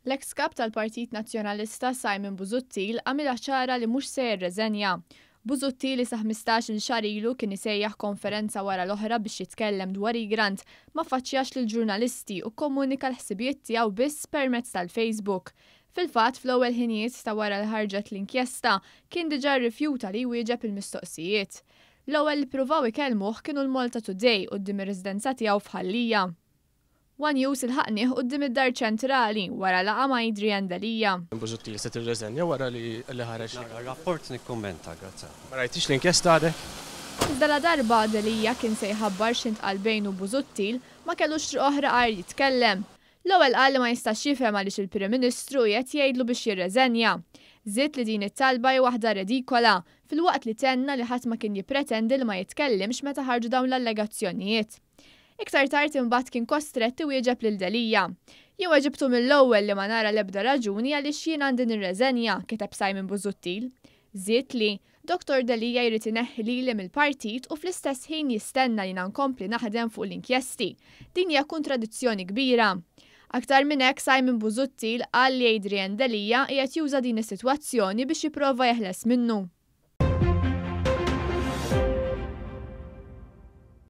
L-eks Kap tal-Partit Nazzjonalista Simon Busuttil għamilha ċara li mhux se jirreżenja. Busuttil li sa 15-il xahar ilu kien isejjaħ konferenza wara l-oħra biex jitkellem dwar Egrant, ma faċċjax lill-ġurnalisti u kkomunika l-ħsibijiet tiegħu biss permezz tal-Facebook. Fil-fatt, fl-ewwel ħinijiet ta' wara li ħarġet l-inkjesta, kien diġà rrifjuta li jwieġeb il-mistoqsijiet. L-ewwel li ppruvaw ikellmuh kienu l-Malta Today quddiem ir-residenza tiegħu f'Ħal Lija. One News ilħaqnieh quddiem id-Dar Ċentrali wara laqgħa ma' Adrian Delia. Busuttil se tirreżenja wara li ħareġ. Nara r-rapport nikkummenta, grazzi ħafna. Ma rajtix l-inkjesta għadek? Iżda ladarba Delia kien se jħabbar x'intqal bejnu u Busuttil, ma kellux triq oħra għajr jitkellem. L-ewwel qal li ma jistax jifhem għaliex il-Prim Ministru qiegħed jgħidlu biex jirreżenja. Żied li din it-talba hi waħda redikola, filwaqt li tenna li ħadd ma kien jippretendi li ma jitkellimx meta ħarġu dawn l-allegazzjonijiet. Iktar tard imbagħad kien kostrett iwieġeb lil Delia. Jien weġibtu mill-ewwel li ma nara l-ebda raġuni għaliex jien għandi nirreżenja, kiteb Simon Busuttil. Żied li, Dottor Delia jrid ineħħi lili mill-partit u fl-istess ħin jistenna li jiena nkompli naħdem fuq l-inkjesti. Din hija kontradizzjoni kbira. Aktar minn hekk Simon Busuttil qal li Adrian Delia qiegħed juża din is-sitwazzjoni biex jipprova jeħles minnu.